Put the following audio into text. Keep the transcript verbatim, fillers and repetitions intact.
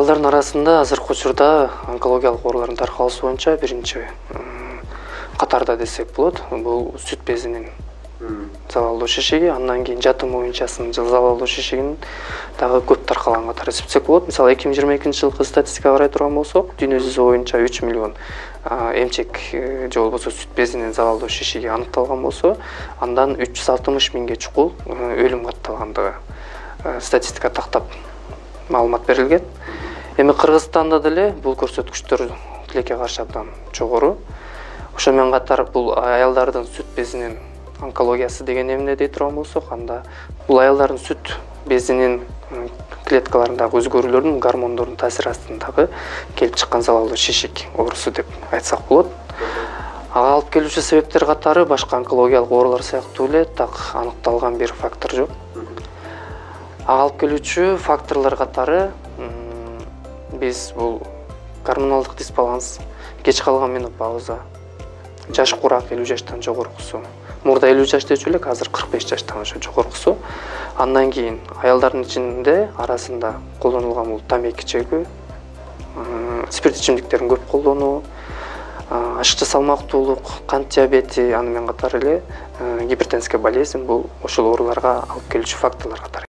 Аялдардын арасында азыркы учурда онкологиялык оорулардын таркалышы боюнча биринчи катарда десек болот. Бул сүт безинин залалдуу шишиги, андан кийин жатуу моюнчасынын залалдуу шишигинин дагы көп таркалган катары эсептесек болот. Мисалы эки миң жыйырма экинчи жылкы статистикага карай турган болсок, дүйнө жүзү боюнча үч миллион эмчек же болбосо сүт безинин залалдуу шишиги аныкталган болсо, андан үч жүз алтымыш миңге чукул өлүм катталгандыгы статистика тактап маалымат берилген. Эми Кыргызстанда деле бул көрсөткүчтөр тилекке каршы абдан жогору. Ошо менен катар бул аялдардын сүт безинин онкологиясы деген эмне дей турган болсок, анда бул аялдардын сүт безинин клеткаларындагы өзгөрүүлөрдүн, гормондордун таасири астындагы келип чыккан залалдуу шишик оорусу деп айтсак болот. Ага алып келүүчү себептер катары башка онкологиялык оорулар сыяктуу эле так аныкталган бир фактор жок. Ага алып келүүчү факторлор катары биз бул гормоналдык дисбаланс, кеч калган менопауза, жаш курак элүү жаштан жогоркусу. Мурда элүү жаш дечү элек, азыр кырк беш жаштан ошо жогоркусу. Андан кийин аялдардын ичинде арасында колдонулган бул тамеки чегүү, спирт ичимдиктерин көп колдонуу, ашыкча салмактуулук, кант диабети, аны менен катар эле гипертензия болезнь бул ошол ооруларга алып келүүчү факторлор катары.